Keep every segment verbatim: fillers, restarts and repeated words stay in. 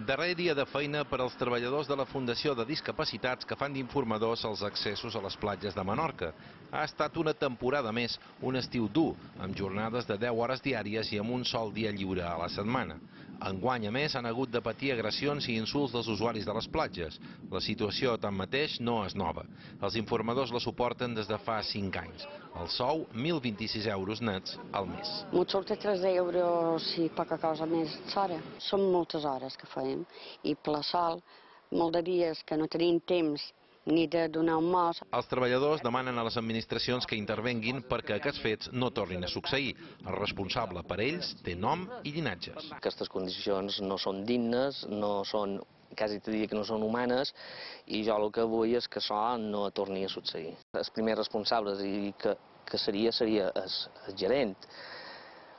Darrer dia de feina per als treballadors de la Fundació de Discapacitats que fan d'informadors als accessos a les platges de Menorca. Ha estat una temporada més, un estiu dur, amb jornades de deu hores diàries i amb un sol dia lliure a la setmana. Enguany, a més, han hagut de patir agressions i insults dels usuaris de les platges. La situació, tanmateix, no és nova. Els informadors la suporten des de fa cinc anys. El sou, mil vint-i-sis euros nets al mes. Mos surt tres euros i poca cosa més d'hora. Són moltes hores que fem i per la sol, molts de dies que no tenim temps ni de donar un mos. Els treballadors demanen a les administracions que intervenguin perquè aquests fets no tornin a succeir. El responsable per ells té nom i llinatges. Aquestes condicions no són dignes, no són, quasi te diria que no són humanes, i jo el que vull és que això no torni a succeir. Els primers responsables i que, que seria, seria el, el gerent.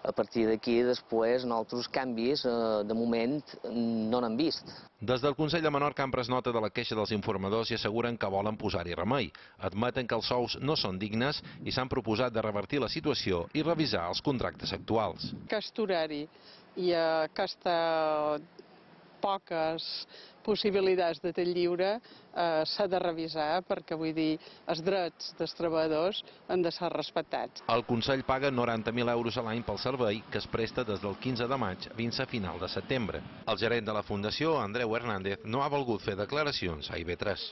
A partir d'aquí, després, altres canvis, de moment, no n'han vist. Des del Consell de Menorca han pres nota de la queixa dels informadors i asseguren que volen posar-hi remei. Admeten que els sous no són dignes i s'han proposat de revertir la situació i revisar els contractes actuals. Aquest horari i aquesta poques possibilitats de temps lliure eh, s'ha de revisar perquè, vull dir, els drets dels treballadors han de ser respectats. El Consell paga noranta mil euros a l'any pel servei que es presta des del quinze de maig fins a final de setembre. El gerent de la Fundació, Andreu Hernández, no ha volgut fer declaracions a I V tres.